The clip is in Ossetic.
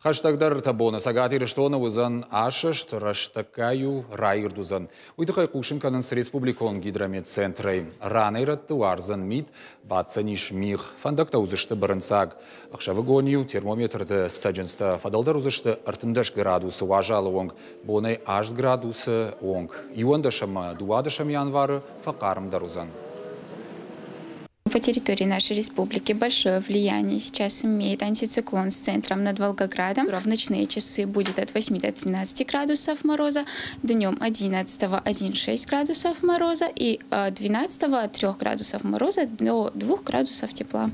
Хӕстӕгдӕр ӕртӕ боны Цӕгат Ирыстоны уыдзӕн асӕст, рӕстӕггай-иу раирд уыдзӕн. Уый тыххӕй хъусын кӕнынц республикон гидрометцентрӕй. Ранӕй-рӕтты уардзӕн мит, баддзӕнис мигъ, фӕндӕгтӕ уыдзысты бырынцъаг. Ӕхсӕвыгон-иу термометрты цӕджындзтӕ фӕдӕлдӕр уыдзысты 13 градусы уазалы онг, бонӕй 8 градусы онг. 11 ӕмӕ 12 январы фӕхъармдӕр уыдзӕн. По территории нашей республики большое влияние сейчас имеет антициклон с центром над Волгоградом. В ночные часы будет от 8 до 13 градусов мороза, днем 11 1,6 градусов мороза и 12 3 градусов мороза до 2 градусов тепла.